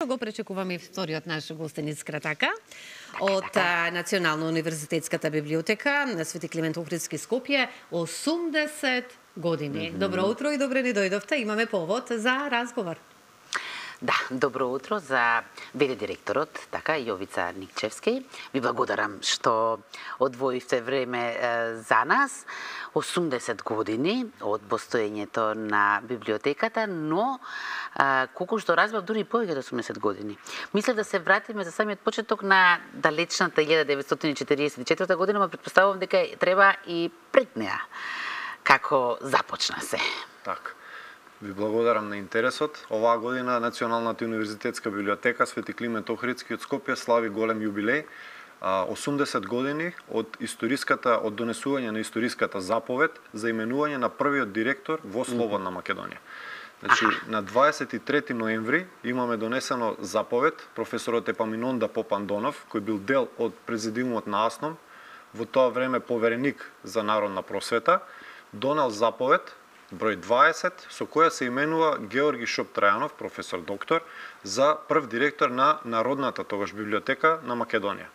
Го пречекуваме и вториот наш гостин Кратака од Национална универзитетската библиотека на Свети Климент Охридски Скопје, 80 години. Добро утро и добре ни дојдовте. Имаме повод за разговор. Да, добро утро за ВД директорот, така, Јовица Никчевски. Ви благодарам што одвоивте време за нас. 80 години од постоењето на библиотеката, но колку што разбрав, дури и повеќе од 80 години. Мислев да се вратиме за самиот почеток на далечната 1944 година, но претпоставувам дека треба и пред неа. Како започна се? Така. Ви благодарам на интересот. Оваа година Националната универзитетска библиотека Свети Климент Охридски од Скопје слави голем јубилеј. 80 години од донесување на историската заповед за именување на првиот директор во Слободна Македонија. Значи, на 23 ноември имаме донесено заповед професорот Епаминонда Попандонов, кој бил дел од президиумот на АСНОМ, во тоа време повереник за народна просвета, донел заповед број 20, со која се именува Георги Шоптрајанов, професор доктор, за прв директор на Народната тогаш библиотека на Македонија.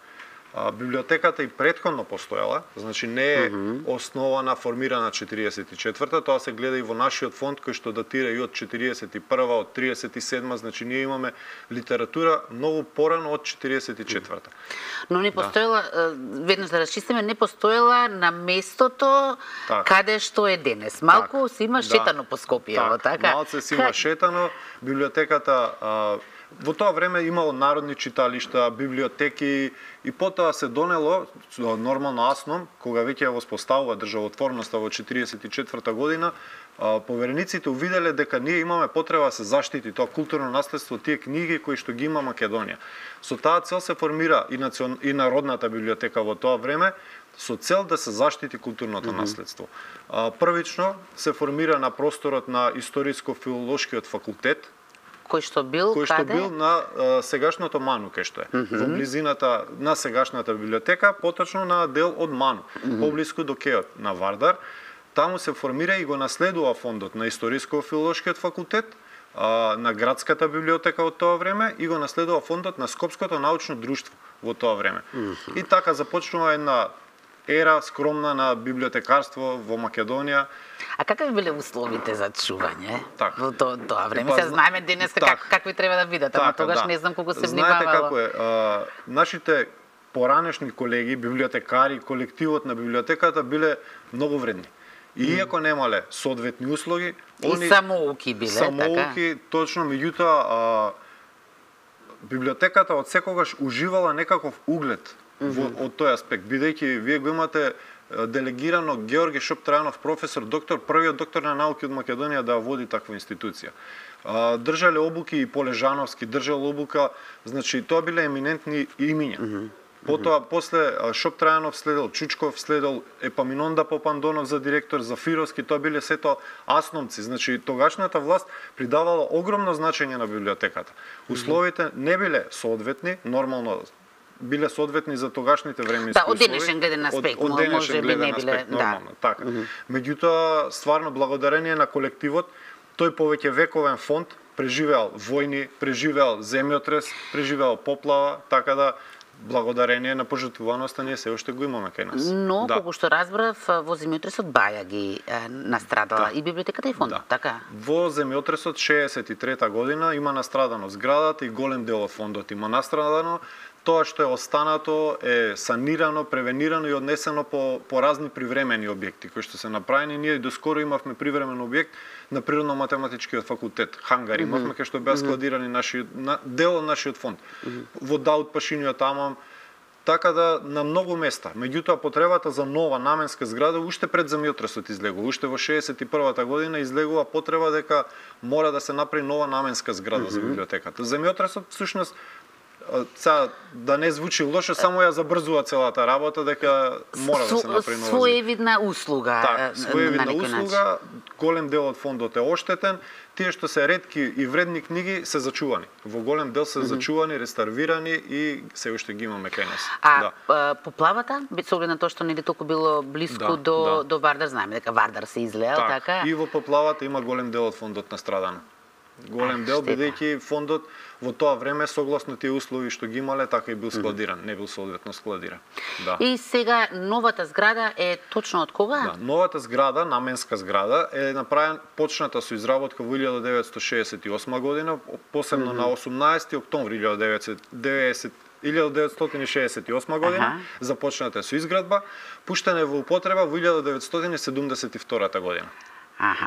Библиотеката и претходно постоела, значи не е основана, формирана 44-та, тоа се гледа и во нашиот фонд кој што датира и од 41-та, од 37-та, значи ние имаме литература многу порано од 44-та. Но не постоела, веднаш да расчистиме, не постоела на местото каде што е денес. Малку се има шетано по Скопје, така? Малце се има шетано, библиотеката во тоа време имало народни читалишта, библиотеки и потоа се донело нормално АСНОМ, кога веќе ја воспоставува државотворноста во 44-та година, поверениците увиделе дека ние имаме потреба да се заштити тоа културно наследство, тие книги кои што ги има Македонија. Со таа цел се формира и Народната библиотека во тоа време, со цел да се заштити културното наследство. Првично се формира на просторот на Историско-филолошкиот факултет, кој што бил на сегашното МАНУ, кај што е. Во близината на сегашната библиотека, поточно на дел од МАНУ, поблиску до кеот на Вардар. Таму се формира и го наследува фондот на Историско-филолошкиот факултет, на градската библиотека од тоа време и го наследува фондот на Скопското научно друштво во тоа време. И така започнува една ера скромна на библиотекарство во Македонија. А какви биле условите за чување во тоа време? Се знаеме денес какви треба да бидат, ама тогаш не знам колку се внимавало. Знаете како е, нашите поранешни колеги, библиотекари, колективот на библиотеката биле многу вредни. И иако немале соодветни услуги, и самоуки биле, самоуки, точно, меѓутоа библиотеката од секогаш уживала некаков углед од тој аспект, бидејќи вие го имате делегирано Георги Шоптрајанов, професор, доктор, првиот доктор на науки од Македонија да води таква институција. Држале обуки и Полежановски, држал обука, значи тоа биле еминентни имиња. Потоа, после Шоптрајанов следел Чучков, следел Епаминонда Попандонов за директор, Зафировски, тоа биле сето асновци. Значи, тогашната власт придавала огромно значење на библиотеката. Условите не биле соодветни, нормално биле соодветни за тогашните временски услови. Од денешен гледен аспект, може би не биле, нормално, така. Меѓутоа, стварно благодарение на колективот, тој повеќе вековен фонд преживеал војни, преживеал земјотрес, преживеал поплава, така да благодарение на пожртвуваноста ние се уште го имаме кај нас. Но, колку што разбрав, во земјотресот баја ги настрадала и библиотеката и фондот, така? Во земјотресот 63-та година има настрадано зградата и голем дел од фондот има настрадано. Тоа што е останато е санирано, превенирано и однесено по разни привремени објекти кои што се направени. Ние доскоро имавме привремен објект на Природно-математичкиот факултет, хангар имавме кај што беа складирани дел од нашиот фонд. Вода од пашиниот амам, така да на многу места. Меѓутоа потребата за нова наменска зграда уште пред земјотресот излегува. Уште во 61-та година излегува потреба дека мора да се направи нова наменска зграда за библиотеката. Земјотресот всушност да не звучи лошо, само ја забрзува целата работа, дека мора да се направи нова. Своевидна услуга. Своевидна услуга, голем дел од фондот е оштетен, тие што се ретки и вредни книги се зачувани. Во голем дел се зачувани, реставрирани и се уште ги имаме кај нас. Поплавата, со оглед на тоа што нели толку било блиску до Вардар, знаеме дека Вардар се излеел, така? И во поплавата има голем дел од фондот настрадано. Голем дел, бидејќи фондот во тоа време согласно тие услови што ги имале, така и бил складиран, не бил соодветно складиран. Да. И сега новата зграда е точно од кога? Да, новата зграда, наменска зграда, е почната со изработка во 1968 година, посебно на 18 октомври 1968 година, започната со изградба, пуштена во употреба во 1972 година.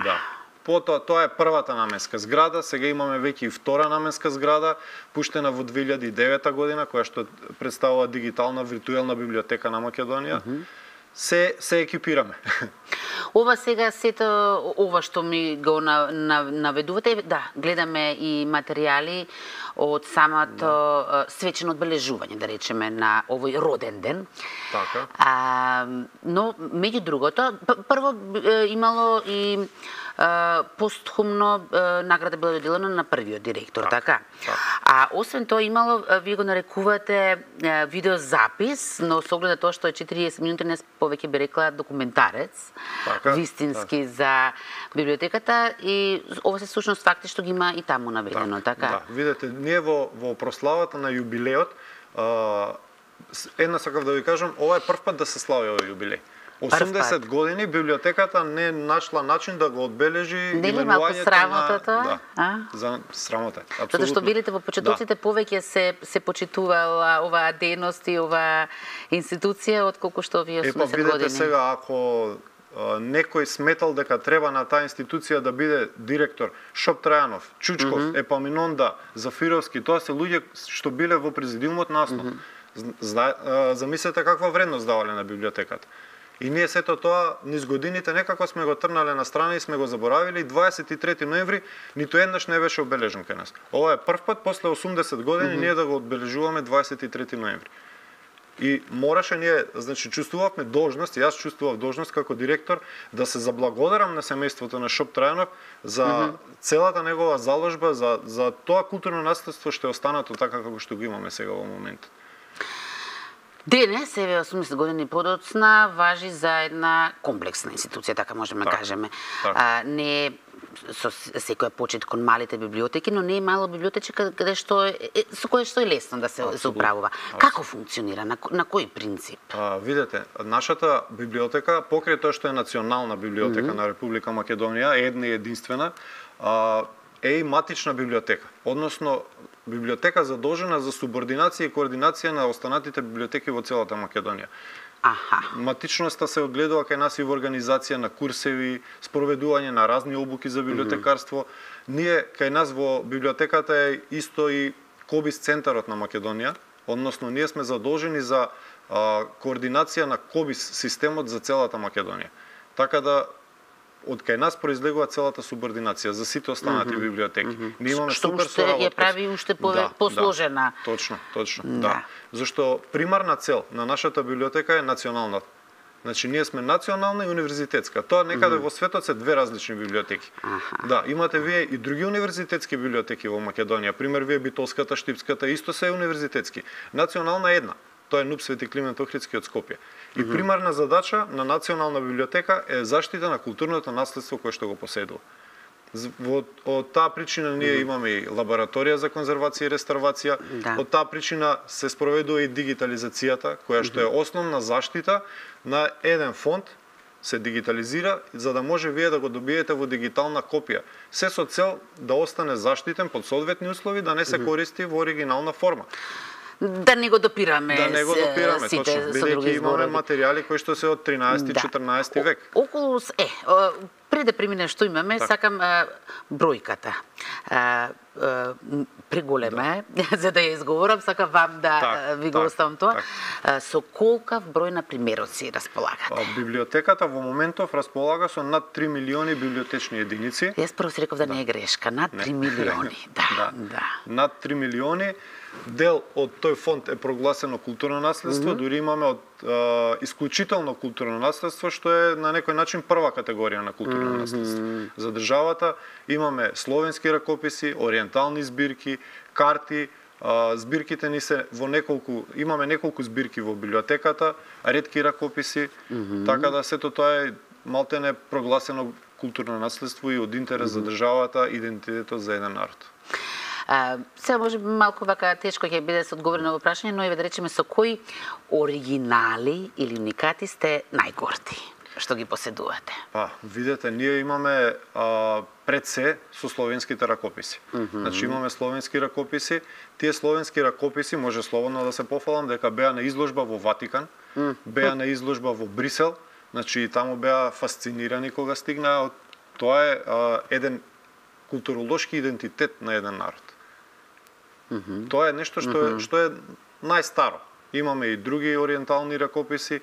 Да. Потоа, тоа е првата наменска зграда, сега имаме веќе и втора наменска зграда, пуштена во 2009 година, која што представува дигитална виртуелна библиотека на Македонија. Се екипираме. Ова сега сето, ова што ми го наведувате, да, гледаме и материјали од самото свечено одбележување, да речеме, на овој роден ден. Така. Но, меѓу другото, прво имало и постхумно награда била доделена на првиот директор, така? А освен тоа имало, вие го нарекувате видеозапис, но со оглед на тоа што е 40 минути, не повеќе би рекла документарец, вистински за библиотеката, и ова се сушност факти што ги има и таму наведено, така? Да, видете, ние во прославата на јубилеот, една сакав да ви кажам, ова е прв пат да се слави овој јубилеј. 80 години библиотеката не нашла начин да го одбележи именувањето на... малку срамота тоа? За срамота, апсолутно. Затоа што билите во почетоците повеќе се почитувала оваа дејност и оваа институција отколку што овие 80 години. Видете сега, ако некој сметал дека треба на таа институција да биде директор Шоп Трајанов, Чучков, Епаминонда, Зафировски, тоа се луѓе што биле во президиумот на АСНО. Замислете каква вредност давале на библиотеката. И ние сето тоа низ годините некако сме го трнале на страна и сме го заборавиле, и 23 ноември ниту еднаш не беше обележен кај нас. Ова е прв пат после 80 години ние да го одбележуваме 23 ноември. И мораше ние, значи чувствувавме должност, и јас чувствував должност како директор да се заблагодарам на семејството на Шоп Трајанов за целата негова заложба, за тоа културно наследство што е останато така како што го имаме сега во моментот. Денес, еве 80 години подоцна, важи за една комплексна институција, така можеме да кажеме. Не со секој почет кон малите библиотеки, но не е мало библиотечка со кое што е лесно да се управува. Како функционира, на кој принцип? Видете, нашата библиотека, покрај тоа што е национална библиотека на Република Македонија, една и единствена, е и матична библиотека, односно библиотека задолжена за субординација и координација на останатите библиотеки во целата Македонија. Матичноста се одгледува кај нас и во организација на курсеви, спроведување на разни обуки за библиотекарство. Ние кај нас во библиотеката е исто и Кобис центарот на Македонија, односно ние сме задолжени за координација на Кобис системот за целата Македонија. Така да од кај нас произлегува целата субординација за сите останати библиотеки. Ние имаме супер соработка. Што ја прави уште посложена. Точно, да. Зашто примарна цел на нашата библиотека е национална. Значи ние сме национална и универзитетска. Тоа некаде во светот се две различни библиотеки. Да, имате вие и други универзитетски библиотеки во Македонија. Пример, вие Битолската, Штипската, исто се универзитетски. Национална е една. Тоа е НУП Свети Климент Охридски од Скопје. И примарна задача на Национална библиотека е заштита на културното наследство кое што го поседува. Од таа причина ние имаме и лабораторија за конзервација и реставрација. Од таа причина се спроведува и дигитализацијата, која што е основна заштита на еден фонд, се дигитализира за да може вие да го добиете во дигитална копија. Се со цел да остане заштитен под соодветни услови, да не се користи во оригинална форма. Да не го допираме точно, бидејќи имаме материјали кои што се од 13-14 век. Околу пред да преминем што имаме, сакам бројката. Преголема е, за да ја изговорам, сакам вам да ви го оставам тоа. Со колкав број на примероци располагате? Библиотеката во моментов располага со над 3 милиони библиотечни единици. Јас прво си реков да не е грешка, над 3 милиони. Над 3 милиони. Дел од тој фонд е прогласено културно наследство, дури имаме од исклучително културно наследство, што е на некој начин прва категорија на културно наследство. За државата имаме словенски ракописи, ориентални збирки, карти, збирките ни се во имаме неколку збирки во библиотеката, ретки ракописи, така да сето тоа е малтене прогласено културно наследство и од интерес за државата, идентитетот за еден народ. Сега може би малку вака тешко ќе биде се одговори на ово прашање, но еве да речеме со кои оригинали или уникати сте најгорди што ги поседувате? Видете, ние имаме пред се со словенските ракописи. Значи имаме словенски ракописи. Тие словенски ракописи може слободно да се пофалам дека беа на изложба во Ватикан, беа на изложба во Брисел, значи и таму беа фасцинирани кога стигнаа. Тоа е еден културолошки идентитет на еден народ. Тоа е нешто што е најстаро. Имаме и други ориентални ракописи,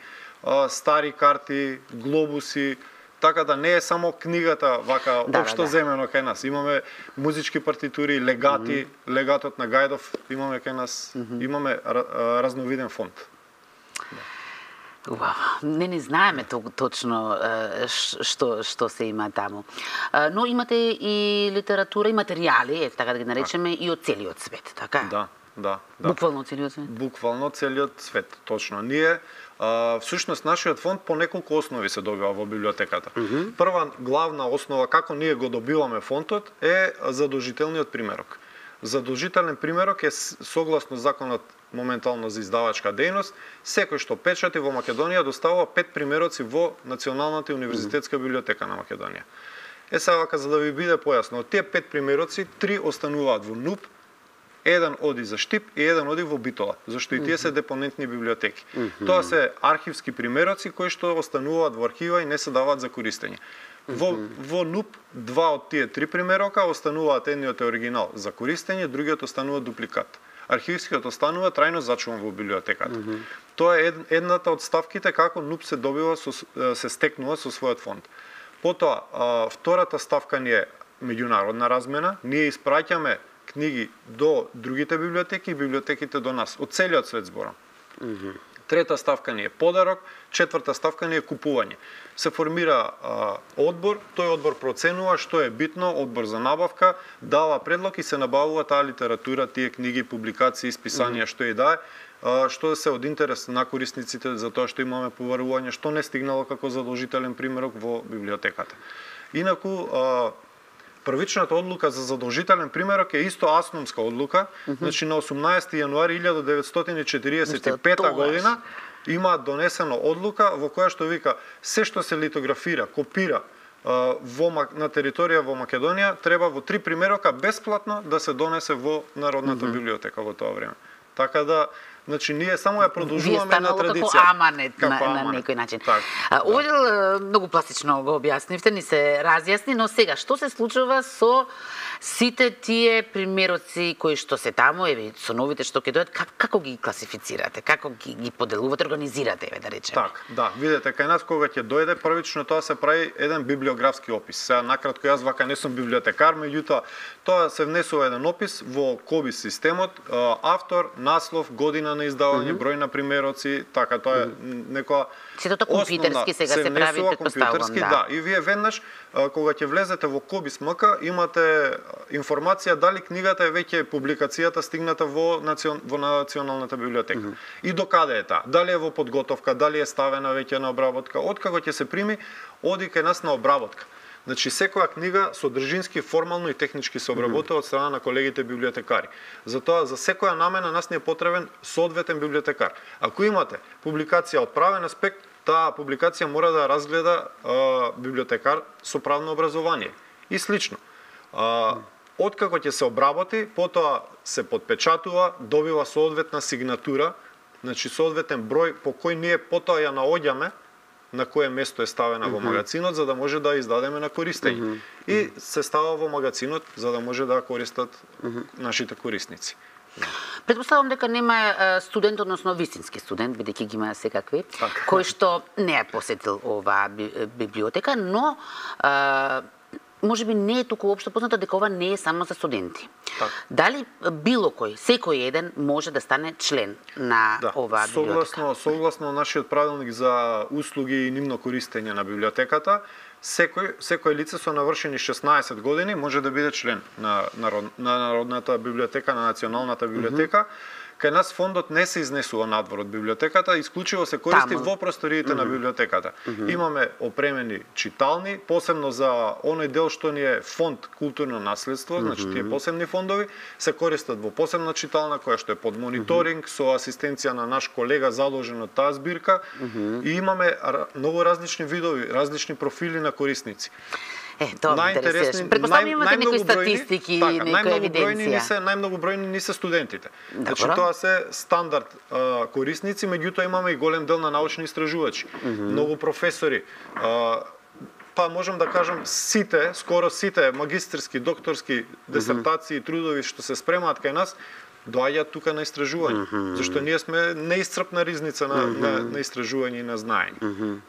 стари карти, глобуси, така да не е само книгата вака општо земено кај нас. Имаме музички партитури, легати, легатот на Гајдов имаме кај нас, имаме разновиден фонд. Не знаеме точно што се има таму. Но имате и литература и материјали, така да ги наречеме, и од целиот свет, така? Да. Буквално целиот свет? Буквално целиот свет, точно. Ние, всушност, нашиот фонд по неколку основи се добива во библиотеката. Прва главна основа како ние го добиваме фондот е задолжителниот примерок. Задолжителен примерок е согласно законот моментално за издавачка дејност, секој што печати во Македонија доставува 5 примероци во Националната универзитетска библиотека на Македонија. Сега за да ви биде појасно, од тие 5 примероци, 3 остануваат во НУП, еден оди за Штип и еден оди во Битола, зашто и тие се депонентни библиотеки. Тоа се архивски примероци кои што остануваат во архива и не се даваат за користење. Во НУП, 2 од тие 3 примерока остануваат, едниот е оригинал за користење, другиот останува дупликат. Архивскиот останува трајно зачуван во библиотеката. Тоа е едната од ставките како НУП се добива се стекнува со својот фонд. Потоа, втората ставка ни е меѓународна размена. Ние испраќаме книги до другите библиотеки и библиотеките до нас, од целиот свет зборам. Трета ставка ни е подарок, четврта ставка ни е купување. Се формира одбор, тој одбор проценува што е битно, одбор за набавка, дава предлог и се набавува таа литература, тие книги, публикации, списанија, што и да е, што се од интерес на корисниците за тоа што имаме поварување, што не стигнало како задолжителен примерок во библиотеката. Инаку, првичната одлука за задолжителен примерок е исто асномска одлука, значи на 18 јануари 1945 година има донесено одлука во која што вика се што се литографира, копира на територија во Македонија треба во 3 примерока бесплатно да се донесе во Народната библиотека во тоа време. Така да, значи ние само ја продолжуваме на традиција. Вие станало како аманет на некој начин. Овде многу пластично го објаснивте, ни се разјасни, но сега што се случува со сите тие примероци кои што се таму, еве со новите што ќе дојдат, како ги класифицирате, како ги поделувате, организирате, еве да речеме? Видете, кај нас кога ќе дојде првично тоа се прави еден библиографски опис. Сега накратко јас вака не сум библиотекар, меѓутоа тоа се внесува еден опис во КОБИС системот, автор, наслов, година на издавање, број на примероци, така тоа е некоја сето компјутерски сега се прави, претпоставувам, да. И вие веднаш кога ќе влезете во КОБИС МК имате информација дали книгата е веќе публикацијата стигната во Националната библиотека. И докаде е таа? Дали е во подготовка, дали е ставена веќе на обработка, откако ќе се прими, оди кај нас на обработка. Значи секоја книга содржински, формално и технички се обработува од страна на колегите библиотекари. Затоа за секоја намена нас не е потребен соодветен библиотекар. Ако имате публикација од правен аспект, таа публикација мора да разгледа библиотекар со правно образование. И слично. Откако ќе се обработи, потоа се подпечатува, добива соодветна сигнатура, значи соодветен број по кој ние потоа ја наоѓаме на кое место е ставена во магазинот за да може да издадеме на користење. И се става во магазинот за да може да користат нашите корисници. Претпоставувам дека нема студент, односно вистински студент, бидејќи ги има секакви, кој што не е посетил оваа библиотека, но може би не е толку општо познато дека ова не е само за студенти. Дали било кој, секој еден може да стане член на оваа библиотека? Согласно нашиот правилник за услуги и нивно користење на библиотеката, секој лице со навршени 16 години може да биде член на Народната библиотека, на Националната библиотека. Кај нас фондот не се изнесува надвор од библиотеката, исклучиво се користи во просториите на библиотеката. Имаме опремени читални, посебно за оној дел што ни е фонд културно наследство, значи тие посебни фондови се користат во посебна читална која што е под мониторинг со асистенција на наш колега задолжен од таа збирка и имаме многу различни видови, различни профили на корисници. Тоа ме интересираше. Предпоставам имате некои статистики, некоја евиденција. Најмногу бројни ни се студентите. Значи тоа се стандард корисници, меѓутоа имаме и голем дел на научни истражувачи. Многу професори, па можам да кажам сите, скоро сите магистерски, докторски дисертации и трудови што се спремаат кај нас, доаѓаат тука на истражување, зашто ние сме неисцрпна ризница на истражување и на знаење.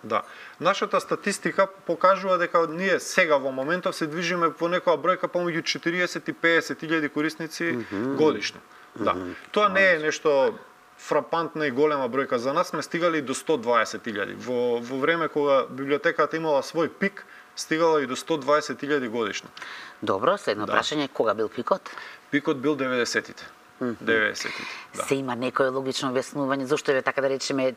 Да. Нашата статистика покажува дека ние сега во моментов се движиме по некоја бројка помеѓу 40 и 50 илјади корисници годишно. Да. Тоа не е нешто фрапантна и голема бројка за нас, сме стигали до 120 илјади. Во време кога библиотеката имала свој пик, стигала и до 120 илјади годишно. Добро, следно прашање, кога бил пикот? Пикот бил 90-тите. 90-тите. Да. Се има некое логично објаснување зошто е така да речеме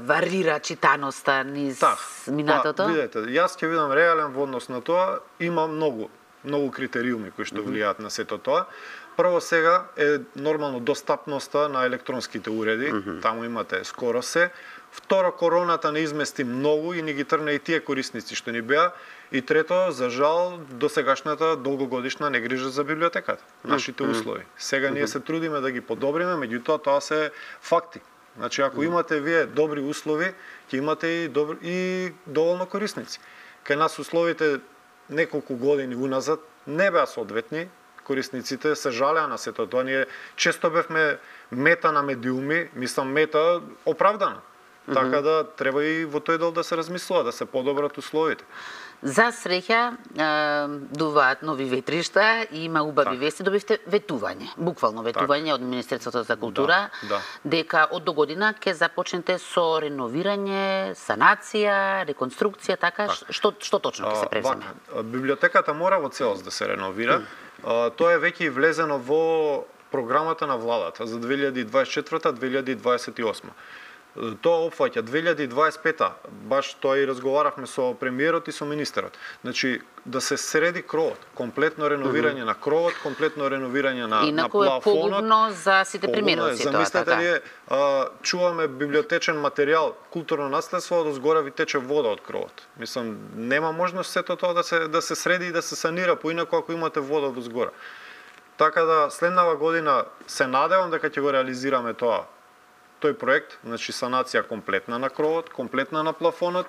варира читаноста низ минатото? Видете, јас ќе видам реален во однос на тоа, има многу критериуми кои што влијаат на сето тоа. Прво сега е нормално достапноста на електронските уреди, таму имате скоро се. Второ, короната не измести многу и ни ги трна и тие корисници што ни беа. И трето, за жал, досегашната долгогодишна негрижа за библиотеката, нашите услови. Сега ние се трудиме да ги подобриме, меѓутоа тоа се факти. Значи, ако имате вие добри услови, ќе имате и доволно корисници. Кај нас условите неколку години уназад не беа соодветни, корисниците се жалеа на сето тоа. Ние често бевме мета на медиуми, мислам мета оправдано. Така да треба и во тој дел да се размислува, да се подобрат условите. За среќа, дуваат нови ветришта и има убави вести, добивте ветување, буквално ветување од Министерството за култура, дека од до година ќе започнете со реновирање, санација, реконструкција, така, што точно ќе се превземе? Библиотеката мора во целост да се реновира. Тоа е веќе влезено во програмата на владата за 2024-2028. Тоа опфаќа 2025-та, баш тоа и разговаравме со премиерот и со министерот. Значи, да се среди кровот, комплетно реновирање на кровот, комплетно реновирање на плафонот. Инаку е погубно за сите премиероци тоа, замислете ли, чуваме библиотечен материјал, културно наследство, од згора ви тече вода од кровот. Мислам, нема можност сето тоа да се среди и да се санира поинаку ако имате вода од згора. Така да следнава година се надевам дека ќе го реализираме тој проект, значи санација комплетна на кровот, комплетна на плафонот.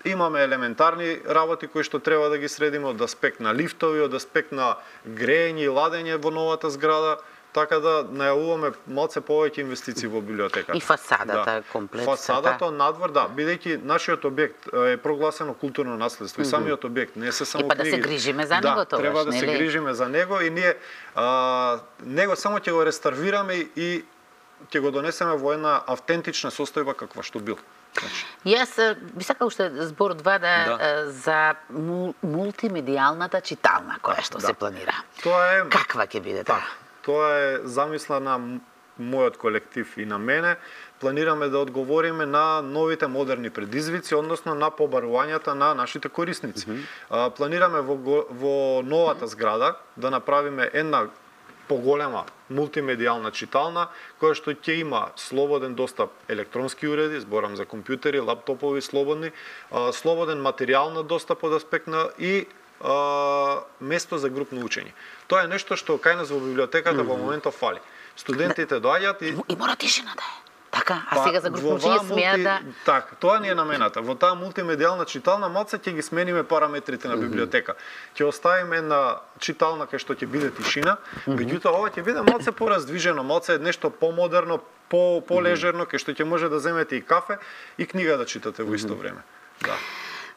Имаме елементарни работи кои што треба да ги средиме од аспект на лифтови, од аспект на грејење и ладење во новата зграда, така да најавуваме малце повеќе инвестиции во библиотеката. И фасадата комплетна. Фасадата надвор, бидејќи нашиот објект е прогласено културно наследство и самиот објект не се само книги. Да се грижиме за него тоа, треба да се грижиме за него и ние него само ќе го реставрираме и ќе го донесеме во една автентична состојба каква што бил. Јас би сакал уште збор два за мултимедијалната читална која што се планира. Каква ќе биде тоа? Тоа е замисла на мојот колектив и на мене. Планираме да одговориме на новите модерни предизвици, односно на побарувањата на нашите корисници. Планираме во новата зграда да направиме една поголема мултимедијална читална, која што ќе има слободен достап електронски уреди, зборам за компјутери, лаптопови слободни, слободен материјал на достап од аспект на и место за групно учење. Тоа е нешто што кај нас во библиотеката во моментот фали. Студентите доаѓаат и мора тишина да е. Така, а сега за групно учење смеат да... Така, тоа ни е намената. Во таа мултимедијална читална малце ќе ги смениме параметрите на библиотека. Ќе оставиме една читална кај што ќе биде тишина, меѓутоа ова ќе биде малце пораздвижено, малце нешто помодерно, полежерно, кај што ќе може да земете и кафе и книга да читате во исто време. Да.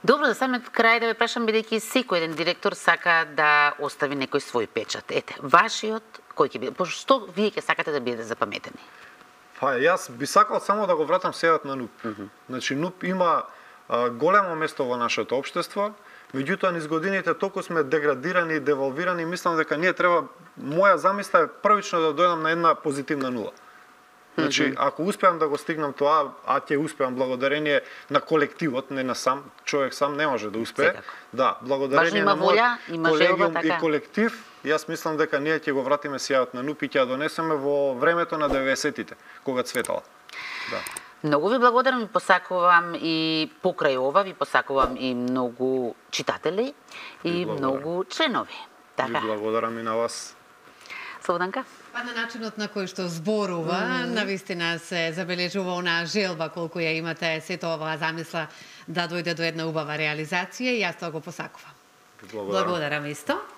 Добро, за самиот крај да ве прашам, бидејќи секој еден директор сака да остави некој свој печат. Ете, вашиот кој ќе биде? Што вие ќе сакате да биде запаметени? Па јас би сакал само да го вратам сејот на НУП. Значи НУП има големо место во нашето општество. Меѓутоа, низ годините толку сме деградирани и девалвирани, мислам дека ние треба, моја замисла е првично да дојдам на една позитивна нула. Значи, ако успеам да го стигнам тоа, а ќе успеам благодарение на колективот, не на сам, човек сам не може да успее. Секако. Да, благодарение Важно има на волја, има желба, колегиум така. и колектив, јас мислам дека ние ќе го вратиме сјајот на НУП и ќе ја донесеме во времето на 90-тите, кога цветала. Да. Многу ви благодарам, ви посакувам и покрај ова, ви посакувам и многу читатели и благодарам. многу членови. Ви Така, благодарам и на вас. Слободанка? Па на начинот на кој што зборува, навистина се забележува онаа желба колку ја имате сето оваа замисла да дојде до една убава реализација и јас тоа го посакувам. Ви благодарам. Благодарам исто.